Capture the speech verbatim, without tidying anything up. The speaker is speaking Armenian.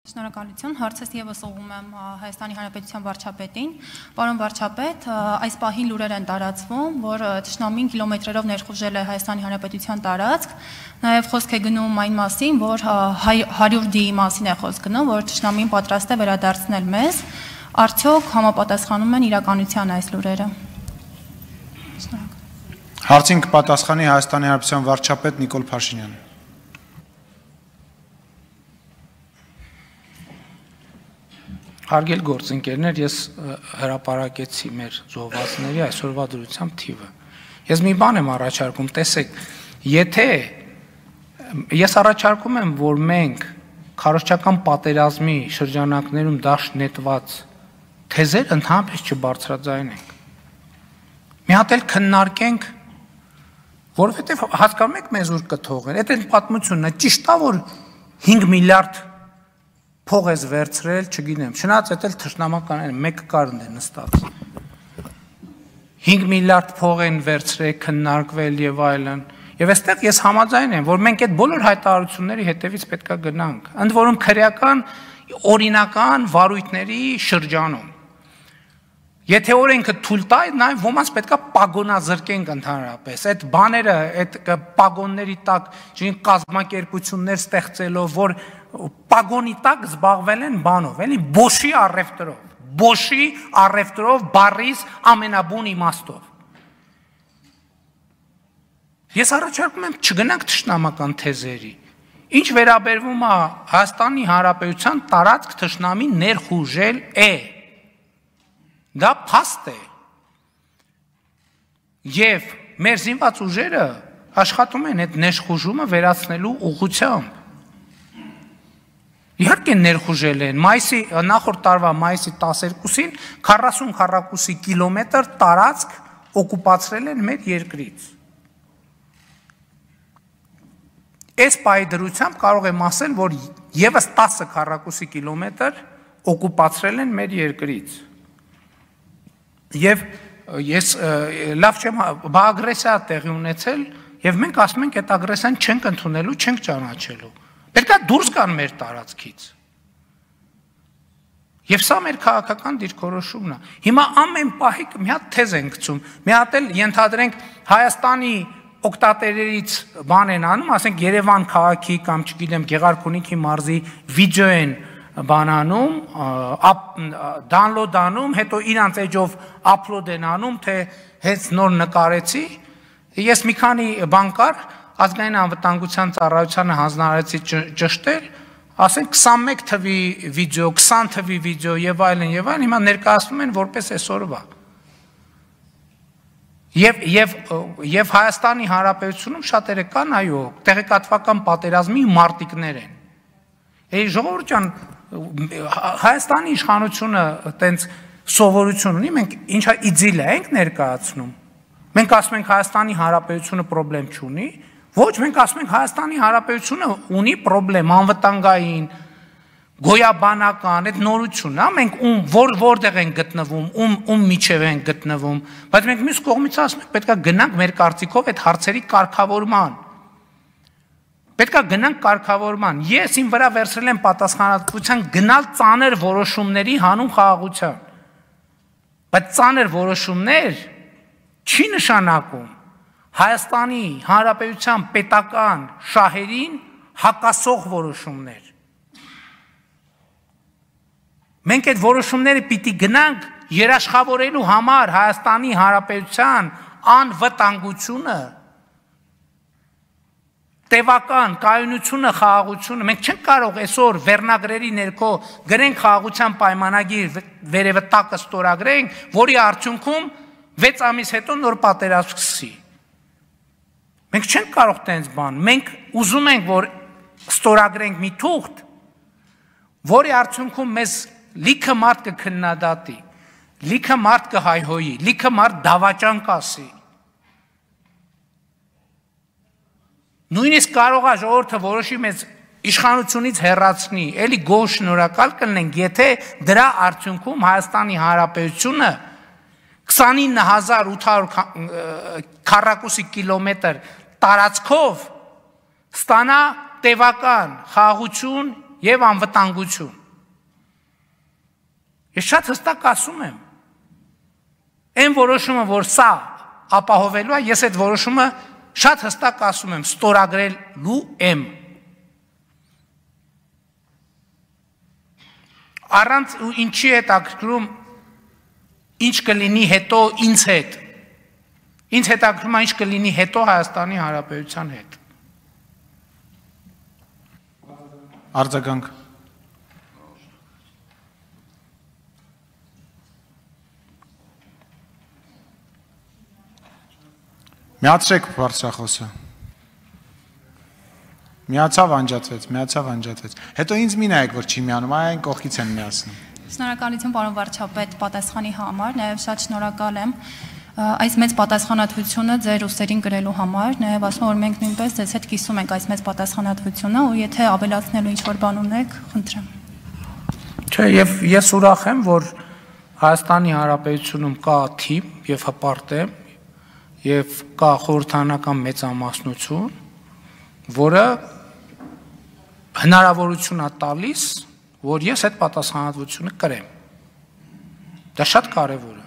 Շնորհակալություն, հարցս եւս ուղղում եմ Հայաստանի Հանրապետության վարչապետին։ Պարոն վարչապետ, այս պահին լուրեր են տարածվում, որ թշնամին կիլոմետրերով ներխուժել է Հայաստանի Հանրապետության տարածք, նաեւ խոսք է գնում այն մասին, որ հարյուր դի մասին է խոսք գնում, որ թշնամին պատրաստ է վերադարձնել մեզ, արդյոք համապատասխանում են իրականության այս լուրերը։ Հարցին կպատասխանի Հայաստանի Հանրապետության վարչապետ Նիկոլ Փաշինյանը։ Հարգելի գործընկերներ, ես հրապարակեցի մեր զոհվածների այսօրվա դրությամբ թիվը։ Ես մի բան եմ առաջարկում, տեսեք, եթե ես առաջարկում եմ, որ մենք քարոզչական պատերազմի շրջանակներում դաշտ նետված թեզեր ընդհանրապես չբարձրաձայնենք։ Մի հատ էլ քննարկենք, որովհետև հասկանում եք մեզ ուր կթողեն։ Այդ այն պատմությունն է, ճիշտ է, որ հինգ միլիարդ փող ես վերցրել, չգիտեմ, չնայած այդ էլ թշնամական են, մեկը կարն է նստած։ հինգ միլիարդ փող են վերցրել, քննարկվել եւ այլն։ Եվ այստեղ ես համաձայն եմ, որ մենք այդ բոլոր հայտարարությունների հետևից պետք է գնանք, ընդ որում քրեական օրինական վարույթների շրջանում։ Եթե օրենքը թույլ տա, նաև ոմանց պետք է պագոնազրկենք ընդհանրապես։ Այդ բաները, այդ պագոնների տակ, չին կազմակերպություններ ստեղծելով, որ պագոնի տակ զբաղվել են բանով, էլի բոշի առևտրով, բոշի առևտրով բառիս ամենաբուն իմաստով։ Ես առաջարկում եմ չգնանք թշնամական թեզերի։ Ինչ վերաբերվում է Հայաստանի Հանրապետության տարածք թշնամի ներխուժել է։ Դա փաստ է։ Եվ մեր զինված ուժերը աշխատում են այդ ներխուժումը վերացնելու ուղղությամբ։ Իհարկե ներխուժել են, մայիսի նախորդ տարվա մայիսի տասներկուսին քառասուն քառակուսի կիլոմետր տարածք օկուպացրել են մեր երկրից։ Այս պայդրությամբ կարող եմ ասել, որ եւս տասը քառակուսի կիլոմետր օկուպացրել են մեր երկրից։ Եվ ես լավ չեմ, բա ագրեսիա տեղի ունեցել, եւ մենք ասում ենք այդ ագրեսիան չենք ընդունելու, չենք ճանաչելու։ Պետք է դուրս գան մեր տարածքից։ Եվ սա մեր քաղաքական դիրքորոշումն է։ Հիմա ամեն պահի մի հատ թեզ են գցում, մի հատ էլ ենթադրենք Հայաստանի օկտատերերից բան են անում, ասենք Երևան քաղաքի կամ չգիտեմ Գեղարքունիքի մարզի վիդեո են բանանում, դանլոդ անում, հետո իրանց էջով upload են անում, թե հենց նոր նկարեցի, ես մի քանի բան կար, ազգային անվտանգության ծառայությանը հանձնարարեցի ճշտել, ասենք քսանմեկ թվի վիդեո, քսան թվի վիդեո եւ այլն եւ այլն, հիմա ներկայացնում են որպես այսօրվա։ Եվ եւ եւ Հայաստանի Հանրապետությունում շատերը կան, այո, տեղեկատվական պատերազմի մարտիկներ են։ Էй ժողովուրդ ջան, Հայաստանի իշխանությունը տենց սովորություն ունի, մենք ինչա իդիլիա ենք ներկայացնում։ Մենք ասում ենք Հայաստանի Հանրապետությունը խնդրեմ չունի, ոչ, մենք ասում ենք Հայաստանի Հանրապետությունը ունի խնդրեմ անվտանգային, գոյաբանական, այդ նորությունն է, մենք ում որ որտեղ են գտնվում, ում ում միջև են գտնվում, բայց մենք մյուս կողմից ասում ենք պետք է գնանք մեր կարծիքով այդ հարցերի կարգավորման։ Պետք է գնանք կարգավորման։ Ես իմ վրա վերցրել եմ պատասխանատվության գնալ ծանր որոշումների հանուն խաղաղության։ Բայց ծանր որոշումներ չի նշանակում Հայաստանի Հանրապետության պետական շահերին հակասող որոշումներ։ Մենք այդ որոշումները պիտի գնանք երաշխավորելու համար Հայաստանի Հանրապետության անվտանգությունը, տևական կայունությունը, խաղաղությունը, մենք չենք կարող այսօր վերնագրերի ներքո գրենք խաղաղության պայմանագիր, վերևը տակը ստորագրենք, որի արդյունքում վեց ամիս հետո նոր պատերազմ սկսի։ Մենք չենք կարող տենց բան, մենք ուզում ենք, որ ստորագրենք մի թուղթ, որի արդյունքում մեզ լիքը մարդ կքննադատի, լիքը մարդ կհայհոյի, լիքը մարդ դավաճան կասի։ Նույնիսկ կարող է ժողովուրդը որոշի մեզ իշխանությունից հեռացնի, էլի գոհ շնորհակալ կլինենք, եթե դրա արդյունքում Հայաստանի Հանրապետությունը քսանինը հազար ութ հարյուր քառակուսի կիլոմետր տարածքով ստանա տևական խաղաղություն եւ անվտանգություն։ Ես շատ հստակ ասում եմ, այն որոշումը, որ սա ապահովելու է, ես այդ որոշումը շատ հստակ ասում եմ, ստորագրելու եմ։ Առանց ու ինչի հետ ակրում, ինչ կլինի հետո ինձ հետ։ Ինձ հետ ակրում է ինչ կլինի հետո Հայաստանի Հանրապետության հետ։ Արձագանք։ Միացրեք բարձրախոսը։ Միացավ անջատվեց, միացավ անջատվեց։ Հետո ինձ մի նայեք, որ չի միանում, այն կողքից են միացնում։ Շնորհակալություն պարոն վարչապետ պատասխանի համար, նաև շատ շնորհակալ եմ այս մեծ պատասխանատվությունը ձեր ուսերին գրելու համար, նաև ասում որ մենք նույնպես ձեզ հետ կիսում ենք այս մեծ պատասխանատվությունը ու եթե ավելացնելու ինչ-որ բան ունեք, խնդրեմ։ Չէ, եւ ես ուրախ եմ, որ Հայաստանի Հանրապետությունում կա թիմ եւ հպարտ եւ կա խորհրդանական մեծամասնություն, որը հնարավորություն է տալիս, որ ես այդ պատասխանատվությունը կրեմ։ Դա շատ կարևոր է։